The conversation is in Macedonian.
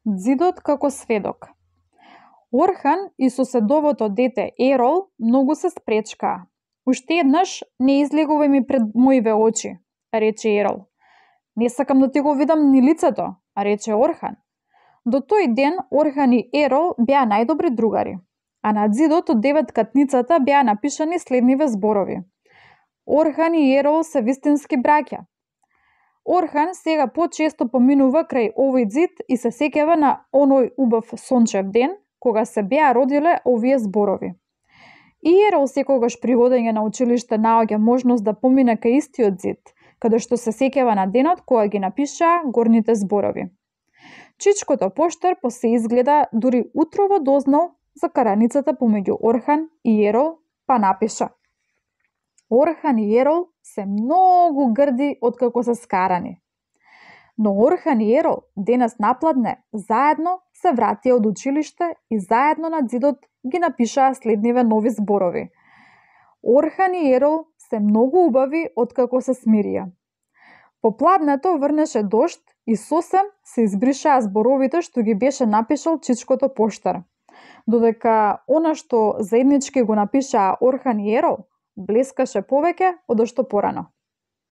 Ѕидот како сведок. Орхан и соседовото дете Ерол многу се спречкаа. Уште еднаш не излегувај ми пред моиве очи, рече Ерол. Не сакам да ти го видам ни лицето, рече Орхан. До тој ден Орхан и Ерол беа најдобри другари, а на ѕидот од деветкатницата беа напишани следниве зборови. Орхан и Ерол се вистински браќа. Орхан сега почесто поминува крај овој ѕид и се сеќава на оној убав сончев ден, кога се беа родиле овие зборови. И Ерол секогаш при одење на училиште наоѓа можност да помине кај истиот ѕид, каде што се сеќава на денот кога ги напишаа горните зборови. Чичкото поштар по се изгледа дури утрово дознал за караницата помеѓу Орхан и Ерол, па напиша: Орхан и Ерол се многу грди откако се скарани. Но Орхан и Ерол денес напладне заедно се вратија од училиште и заедно на ѕидот ги напишаа следниве нови зборови. Орхан и Ерол се многу убави откако се смирија. Попладнето врнеше дожд и сосем се избришаа зборовите што ги беше напишал чичкото поштар, додека она што заеднички го напишаа Орхан и Ерол блескаше повеќе од што порано.